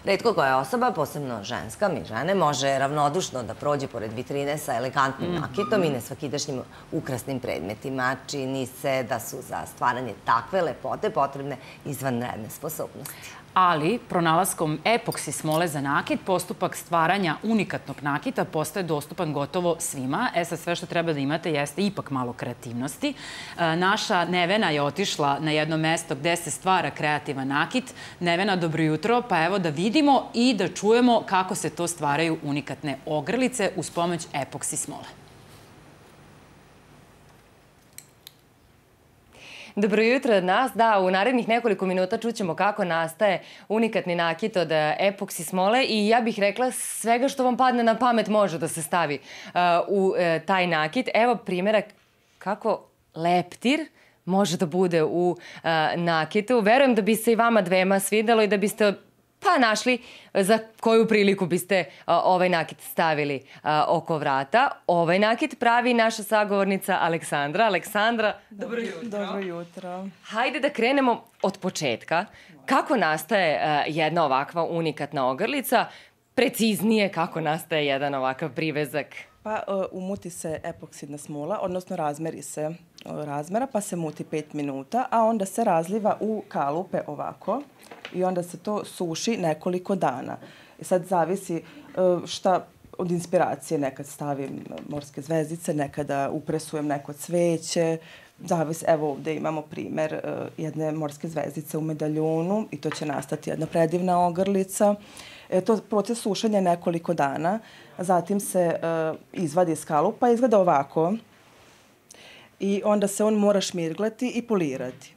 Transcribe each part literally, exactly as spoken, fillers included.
Retko koja osoba, posebno ženska, mi žene, može ravnodušno da prođe pored vitrine sa elegantnim nakitom i nesvakidašnjim ukrasnim predmetima. Čini se da su za stvaranje takve lepote potrebne izvanredne sposobnosti. Ali, pronalaskom epoksi smole za nakit, postupak stvaranja unikatnog nakita postaje dostupan gotovo svima. E sad, sve što treba da imate jeste ipak malo kreativnosti. Naša Nevena je otišla na jedno mesto gde se stvara kreativan nakit. Nevena, dobro jutro. Pa evo da vidimo i da čujemo kako se to stvaraju unikatne ogrlice uz pomoć epoksi smole. Dobro jutro od nas. Da, u narednih nekoliko minuta čućemo kako nastaje unikatni nakit od epoksi smole i ja bih rekla svega što vam padne na pamet može da se stavi u taj nakit. Evo primjerak kako leptir može da bude u nakitu. Verujem da bi se i vama dvema svidelo i da biste pa našli za koju priliku biste ovaj nakit stavili oko vrata. Ovaj nakit pravi naša sagovornica Aleksandra. Aleksandra, dobro jutro. Dobro jutro. Hajde da krenemo od početka. Kako nastaje jedna ovakva unikatna ogrlica? Preciznije, kako nastaje jedan ovakav privezak? Pa umuti se epoksidna smola, odnosno razmeri se razmera, pa se muti pet minuta, a onda se razliva u kalupe ovako i onda se to suši nekoliko dana. I sad zavisi šta od inspiracije, nekad stavim morske zvezdice, nekada upresujem neko cveće, zavisi, evo ovdje imamo primjer jedne morske zvezdice u medaljonu i to će nastati jedna predivna ogrlica. To je proces sušenja nekoliko dana, zatim se izvadi iz kalupa, izgleda ovako i onda se on mora šmirglati i polirati.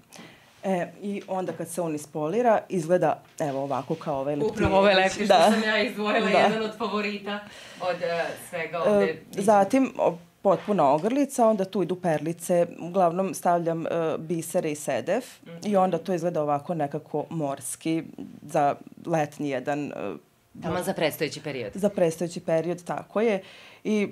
E, I onda kad se on ispolira, izgleda evo ovako kao ovaj leptir. Upravo ovaj leptir što sam ja izdvojila, jedan od favorita od svega ovdje. Zatim potpuna ogrlica, onda tu idu perlice, uglavnom stavljam bisere i sedef i onda to izgleda ovako nekako morski za letnji jedan... Tamo za predstojeći period. Za predstojeći period, tako je. I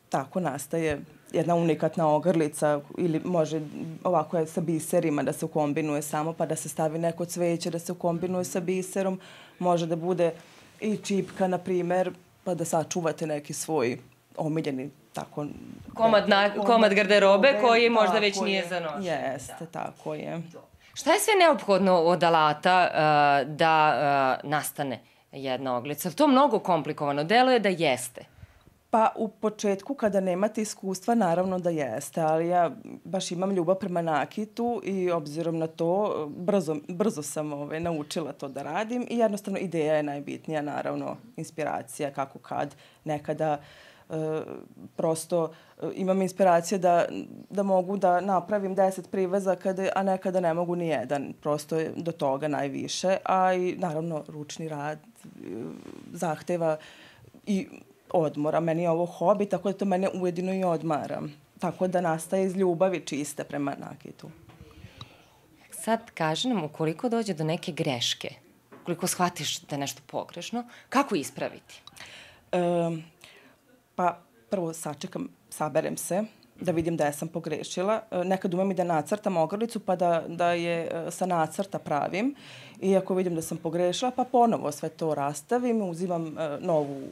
tako nastaje jedna unikatna ogrlica ili može ovako je sa biserima da se ukombinuje samo pa da se stavi neko cveće da se ukombinuje sa biserom. Može da bude i čipka, na primjer, pa da sačuvate neki svoj omiljeni tako... Komad, na, komad garderobe koji možda već nije za nošenje. Jeste, tako je. Šta je sve neophodno od alata uh, da uh, nastane jedna oglica? To mnogo komplikovano. Deluje da jeste. Pa u početku kada nemate iskustva naravno da jeste, ali ja baš imam ljubav prema nakitu i obzirom na to brzo, brzo sam ove, naučila to da radim i jednostavno ideja je najbitnija, naravno inspiracija kako kad nekada e, prosto e, imam inspiracije da, da mogu da napravim deset privezaka, a nekada ne mogu ni jedan, prosto je do toga najviše, a i naravno ručni rad e, zahteva i odmora. Meni je ovo hobi, tako da to mene ujedino i odmara. Tako da nastaje iz ljubavi čiste prema nakitu. Sad kaži nam, ukoliko dođe do neke greške, ukoliko shvatiš da je nešto pogrešno, kako ispraviti? E, pa prvo sačekam, saberem se, da vidim da ja sam pogrešila. Nekad umem i da nacrtam ogrlicu, pa da, da je sa nacrta pravim. I ako vidim da sam pogrešila, pa ponovo sve to rastavim, uzimam novu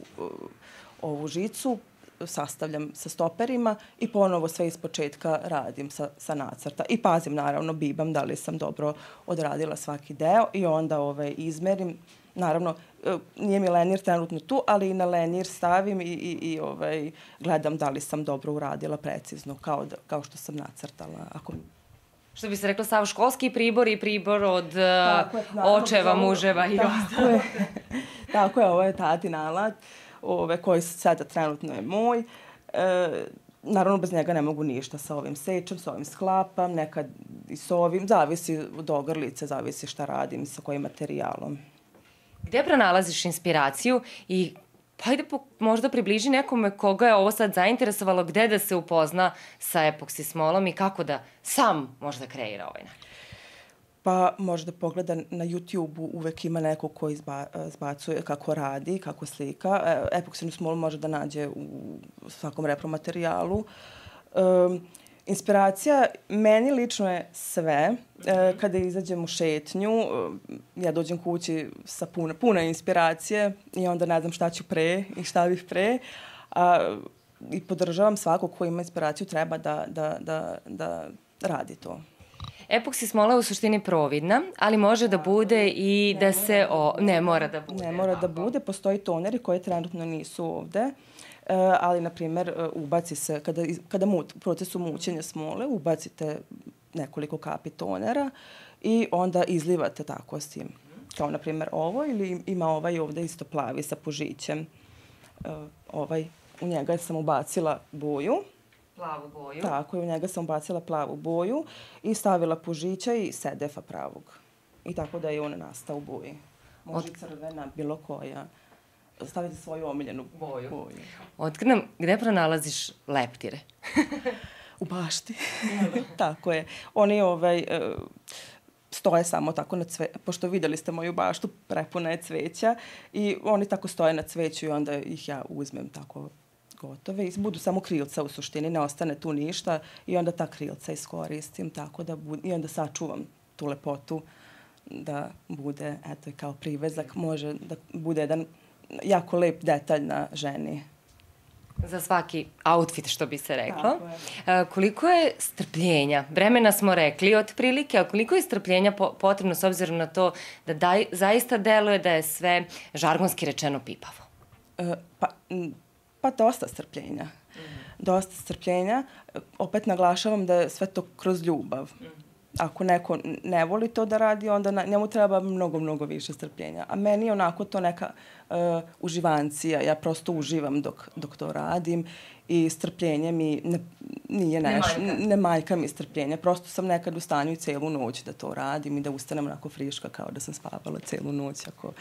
ovu žicu, sastavljam sa stoperima i ponovo sve iz početka radim sa, sa nacrta. I pazim, naravno, bibam da li sam dobro odradila svaki deo i onda ove, izmerim. Naravno, nije mi lenjer trenutno tu, ali i na lenjer stavim i, i, i ovaj, gledam da li sam dobro uradila precizno, kao, da, kao što sam nacrtala. Ako... Što bi se rekla, sav školski pribor i pribor od tako je, naravno, očeva, ovo, muževa i ostalo. Tako je, ovo je tatin alat. Ove, koji sada trenutno je moj. E, naravno, bez njega ne mogu ništa sa ovim sečem, sa ovim sklapam, nekad i s ovim. Zavisi od ogrlice, zavisi šta radim i sa kojim materijalom. Gdje pronalaziš inspiraciju i hajde možda približi nekome koga je ovo sad zainteresovalo, gde da se upozna sa epoksi smolom i kako da sam možda kreira ovaj nakit? Pa možda pogleda na YouTube-u, uvek ima neko ko izba, izbacuje kako radi, kako slika. Epoksinu smolu može da nađe u svakom repromaterijalu. Um, Inspiracija meni lično je sve. E, kada izađem u šetnju, ja dođem kući sa puno, puno inspiracije i onda ne znam šta ću pre i šta bih pre. A, I podržavam svakog ko ima inspiraciju, treba da, da, da, da radi to. Epoksi smola je u suštini providna, ali može da bude i da se... O... Ne mora da bude. Ne mora da bude. Postoji toneri koji trenutno nisu ovde. Uh, ali, na primjer, uh, ubaci se, kada, kada mut, u procesu mućenja smole, ubacite nekoliko kapi tonera i onda izlivate tako s tim. Kao, na primjer, ovo, ili ima ovaj ovde isto plavi sa pužićem. Uh, ovaj, u njega sam ubacila boju. Plavu boju. Tako, u njega sam ubacila plavu boju i stavila pužića i sedefa pravog. I tako da je on nastao u boji. Može Od... crvena, bilo koja. Stavite svoju omiljenu boju. boju. Otkri nam, gde pronalaziš leptire? U bašti. Tako je. Oni ovaj, stoje samo tako na cveću. Pošto vidjeli ste moju baštu, prepuna je cveća. I oni tako stoje na cveću i onda ih ja uzmem tako gotove. I budu samo krilca u suštini, ne ostane tu ništa. I onda ta krilca iskoristim tako da bud... I onda sačuvam tu lepotu da bude, eto, kao privezak. Može da bude jedan jako lep detalj na ženi. Za svaki outfit, što bi se reklo. A, koliko je strpljenja? Vremena smo rekli otprilike, a koliko je strpljenja po potrebno s obzirom na to da daj, zaista deluje da je sve žargonski rečeno pipavo? E, pa, pa dosta strpljenja. Mm. Dosta strpljenja. Opet naglašavam da je sve to kroz ljubav. Mm. Ako neko ne voli to da radi, onda na, njemu treba mnogo, mnogo više strpljenja. A meni je onako to neka uh, uživancija. Ja prosto uživam dok, dok to radim i strpljenje mi ne, nije nešto. Ne, ne majka mi strpljenja. Prosto sam nekad u stanju i celu noć da to radim i da ustanem onako friška kao da sam spavala celu noć ako,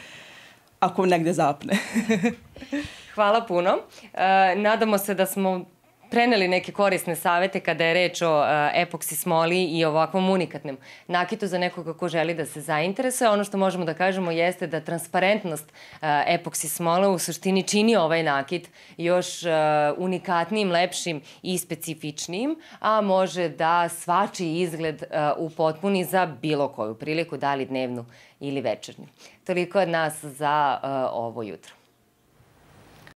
ako negde zapne. Hvala puno. Uh, nadamo se da smo preneli neke korisne savete kada je reč o uh, epoksi smoli i ovakvom unikatnom nakitu za nekoga ko želi da se zainteresuje. Ono što možemo da kažemo jeste da transparentnost uh, epoksi smole u suštini čini ovaj nakit još uh, unikatnijim, lepšim i specifičnijim, a može da svačiji izgled uh, upotpuni za bilo koju priliku, da li dnevnu ili večernju. Toliko od nas za uh, ovo jutro.